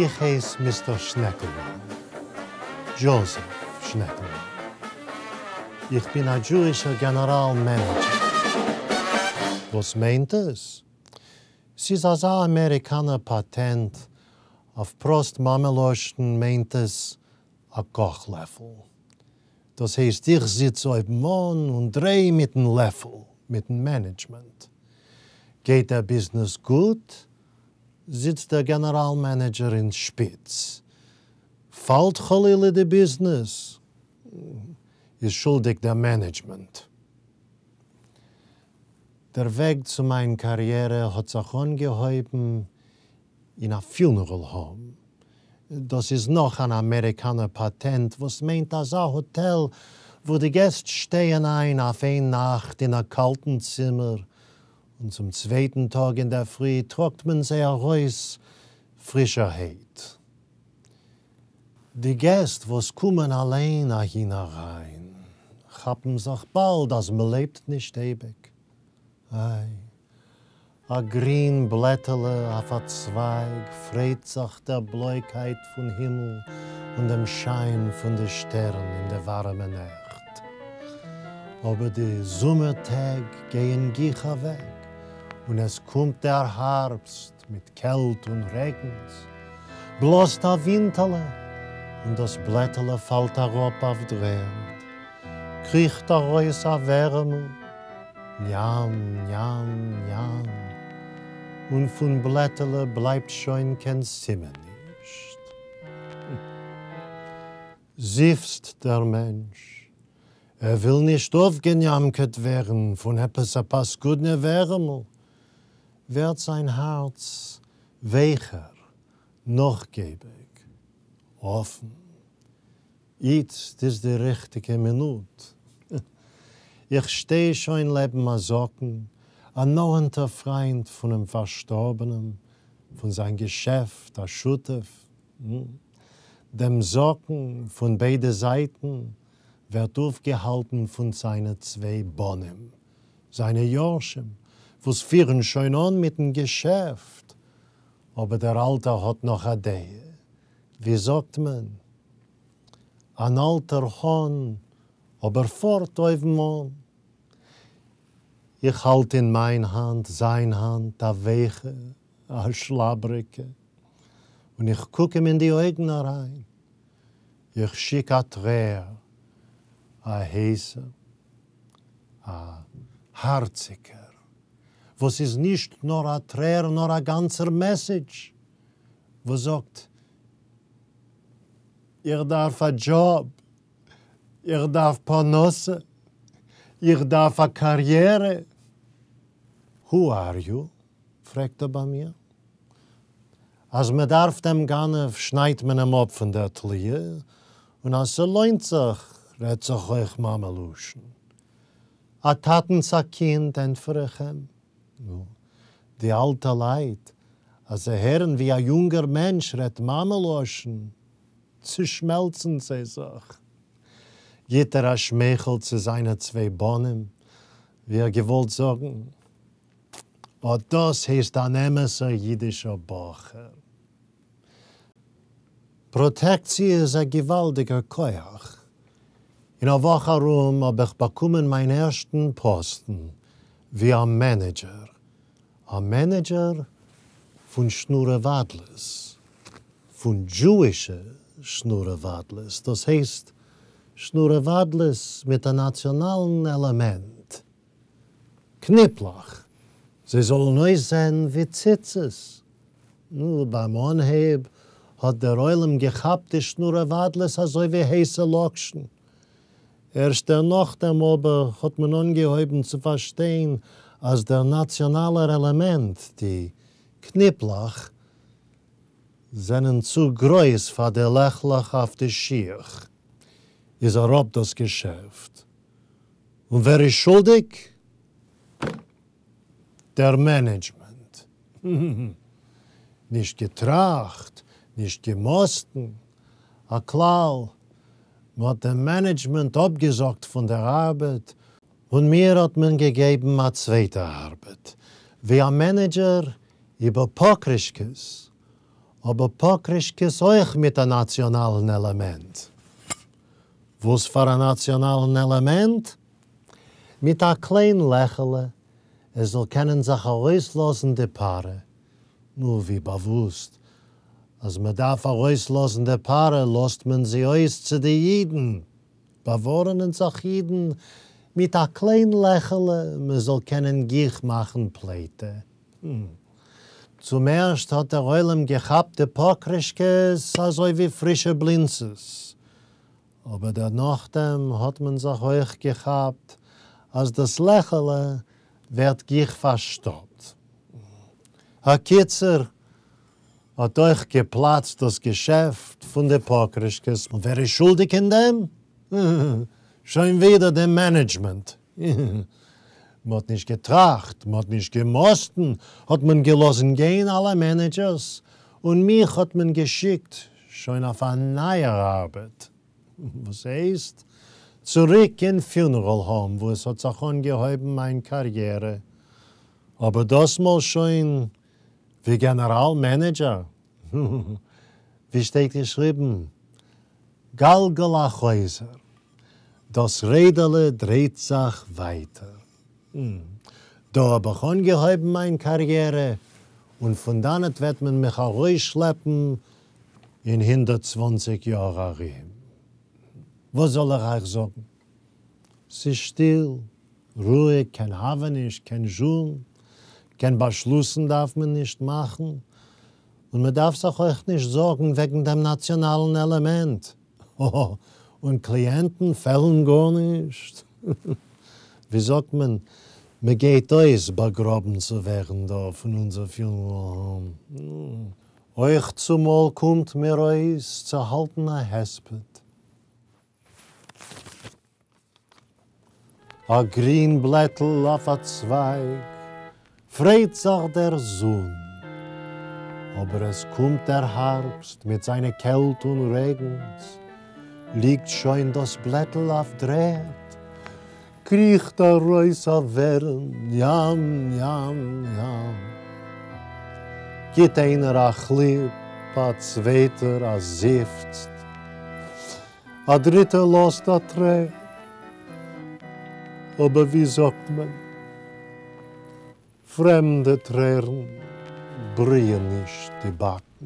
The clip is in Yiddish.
איך הייס מיסטער שנעקלמאן. דזשאָזעף שנעקלמאן. איך בין א דזשואישער גענעראל מענעדזשער. וואס מיינט עס? ס'איז אזא אמעריקאנער פאטענט, אויף פראסט מאמע-לשון מיינט עס א קאך-לעפל. דאס הייסט איך זיץ אויבן אן און דריי מיטן לעפל, מיטן מענעדזשמענט. גייט דער ביזנעס גוט, זיצט דער גענעראל מענעדזשער אין שפיץ. פאלט חלילה די ביזנעס, איז שולדיג דער מענעדזשמענט. דער וועג צו מיין קאריערע האט זיך אנגעהויבן אין א פיונערל האום. דאס איז נאך אן אמעריקאנער פאטענט וואס מיינט אזא האטעל וואו די געסט שטייען איין אויף איין נאכט אין א קאלטן צימער און צום צווייטן טאג אינדערפרי טראגט מען זיי ארויס פרישערהייט. די געסט וואס קומען אליין אהין אריין כאפן זיך באלד אז מ'לעבט נישט אייביג. איי, א גרין בלעטעלע אויף א צווייג פרייט זיך דער בלויקייט פון הימל און דעם שיין פון די שטערן אין די ווארעמע נעכט. אבער די זומער טעג גייען גיך אוועק און עס קומט דער הארבסט מיט קעלט און רעגנס. בלאזט א ווינטעלע און דאס בלעטעלע פאלט אראפ אויף דר'ערד. קריכט ארויס א ווערעמל, ניאם ניאם ניאם, און פון בלעטעלע בלייבט שוין קיין סימן נישט. זיפצט דער מענטש, ער וויל נישט אויפגעניאמקעט ווערן פון עפעס א פאסקודנע ווערעמל, ווערט זיין הארץ ווייכער, נאכגעביג, אפן. איצט איז די ריכטיגע מינוט. איך שטיי שוין לעבן א זקן, א נאענטער פריינט פונעם פארשטארבענעם, פון זיין געשעפט א שותף. דעם זקן פון ביידע זייטן ווערט אויפגעהאלטן פון זיינע צוויי בנים, זיינע יורשים, וואס פירן שוין אן מיטן געשעפט, אבער דער אלטער האט נאך א דעה, ווי זאגט מען? אן אלטער האן, אבער פארט אויבן אן. איך האלט אין מיין האנט זיין האנט, א ווייכע, א שלאבריגע, און איך קוק אים אין די אויגן אריין. איך שיק א טרער, א הייסער, א הארציגער, וואס איז נישט נאר א טרער נאר א גאנצער מעסעדזש, וואס זאגט, איך דארף א דזשאב, איך דארף פרנסה, איך דארף א קאריערע. Who are you? פרעגט ער ביי מיר. אז מען דארף דעם גנב שניידט מען אים אפ פון דער תליה, און אז ס'לוינט זיך רעדט זיך אויך מאמע לשון. א טאטנס א קינד, ענטפער איך אים. נו, די אלטע לייט, אז זיי הערן ווי א יונגער מענטש רעדט מאמע לשון, צושמעלצן זיי זיך. גיט ער א שמייכל צו זיינע צוויי בנים, ווי ער געוואלט זאגן, אט דאס הייסט אן אמת'ער אידישער בחור. פראטעקציע איז א געוואלדיגער כח. אין א וואך ארום האב איך באקומען מיין ערשטן פאסטן ווי א מענעדזשער. א מענעדזשער פון שנורעוואדלעס. פון דזשואישע שנורעוואדלעס. דאס הייסט שנורעוואדלעס מיט א נאציאנאלן עלעמענט. קניפלעך, זיי זאלן אויסזען ווי ציצית. נו, ביים אנהייב האט דער עולם געכאפט די שנורעוואדלעס אזוי ווי הייסע לאקשן. ערשט דערנאכדעם אבער האט מען אנגעהויבן צו פארשטיין אז דער נאציאנאלער עלעמענט, די קניפלעך, זענען צו גרויס פאר די לעכלעך אויף די שיך. איז אראפ דאס געשעפט. און ווער איז שולדיג? דער מענעדזשמענט. נישט געטראכט, נישט געמאסטן. א כלל, מ'האט דעם מענעדזשמענט אפגעזאגט פון דער ארבעט, און מיר האט מען געגעבן א צווייטע ארבעט, ווי א מענעדזשער איבער פאקרישקעס. אבער פאקרישקעס אויך מיט א נאציאנאלן עלעמענט. וואס פאר א נאציאנאלן עלעמענט? מיט א קליין לעכעלע עס זאל קענען זיך ארויסלאזן די פארע. נו, ווי באוואוסט, אז מען דארף ארויסלאזן די פארע לאזט מען זי אויס צו די אידן. באווארענען זיך אידן מיט א קליין לעכעלע מען זאל קענען גיך מאכן פליטה. צום ערשט האט דער עולם געכאפט די פאקרישקעס אזוי ווי פרישע בלינצעס, אבער דערנאכדעם האט מען זיך אויך געכאפט אז דאס לעכעלע ווערט גיך פארשטאפט. הקיצור, האט אויך געפלאצט דאס געשעפט פון די פאקרישקעס, און ווער איז שולדיג אין דעם? שוין ווידער די מענעדזשמענט. מ'האט נישט געטראכט, מ'האט נישט געמאסטן, האט מען געלאזן גיין אלע מענעדזשערס, און מיך האט מען געשיקט שוין אויף א נייער ארבעט, וואס הייסט, צוריק אין פיונעראל האום וואו עס האט זיך אנגעהויבן מיין קאריערע, אבער דאסמאל שוין ווי גענעראל מענעדזשער. ווי שטייט געשריבן, גלגל החוזר, דאס רעדעלע דרייט זיך ווייטער. דא האב איך אנגעהויבן מיין קאריערע, און פון דאנעט וועט מען מיך ארויסשלעפן אין 120 יאר ארום. וואס זאל איך אייך זאגן? ס'איז שטיל, רואיג, קיין הוה נישט, קיין זשום, קיין באשלוסן דארף מען נישט מאכן, און מען דארף זיך אויך נישט זארגן וועגן דעם נאציאנאלן עלעמענט. האהא, און קליענטן פעלן גארנישט. ווי זאגט מען, מען גייט אויס באגראבן צו ווערן דא פון אונזער פיונעראל האום. אויך צומאל קומט מיר אויס צו האלטן א הספד. אַ גרין בלעטל אויף אַ צווײַג, פֿרייט זיך דער זון. אָבער עס קומט דער האַרבסט מיט זײַנע קעלט און רעגנס, ליגט שוין דאָס בלעטל אויף דר'ערד, קריכט אַרויס אַ ווערעם, ים, ים, ים. גיט איינער אַ כליפּ, אַ צווייטער אַ זיפֿץ. א דריטער לאזט א טרער. אבער ווי זאגט מען, פרעמדע טרערן בריען נישט די באקן.